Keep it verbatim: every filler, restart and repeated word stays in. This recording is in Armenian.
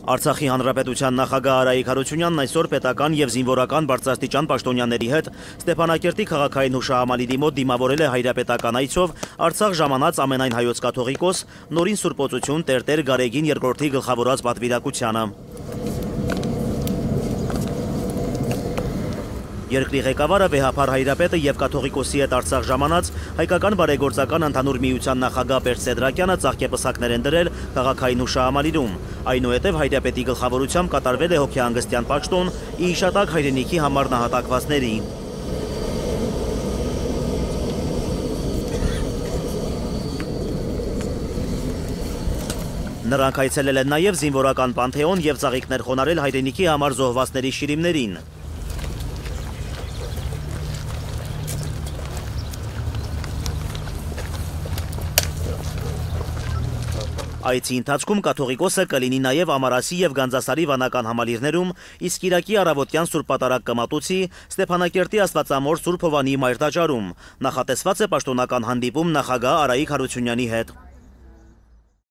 Արցախի հանրապետության նախագահ Արայիկ Հարությունյանն այսօր պետական եւ զինվորական բարձրաստիճան պաշտոնյաների հետ Ստեփանակերտի քաղաքային հուշահամալիրի մոտ դիմավորել է հայրապետական այցով Արցախ ժամանած ամենայն հայոց կաթողիկոս Նորին Սուրբոծություն Տեր-Տեր Գարեգին երկրորդի գլխավորած պատվիրակությանը։ Երկրի ղեկավարը վեհափառ հայրապետը եւ կաթողիկոսի հետ Արցախ ժամանած հայկական բարեգործական ընդհանուր միության նախագահ Բերտ Սեդրակյանը ծաղկեպսակներ են դրել քաղաքային հուշահամալիրում։ Այնուհետև հայրապետի գլխավորությամբ կատարվել է հոգեհանգստյան պաշտոն ի հիշատակ հայրենիքի համար նահատակվածների։ Նրանք այցելել են նաեւ զինվորական պանթեոն եւ ծաղիկներ խոնարհել հայրենիքի համար զոհվածների շիրիմներին։ Այցի ընթացքում կաթողիկոսը կլինի նաև Ամարասի եւ Գանձասարի վանական համալիրներում, իսկ Կիրակի առավոտյան Սուրբ Պատարագ Կմատուցի Ստեփանակերտի Աստվածամոր Սուրբ Հովանի մայր տաճարում։ Նախատեսված է պաշտոնական հանդիպում նախագահ Արայիկ Հարությունյանի հետ։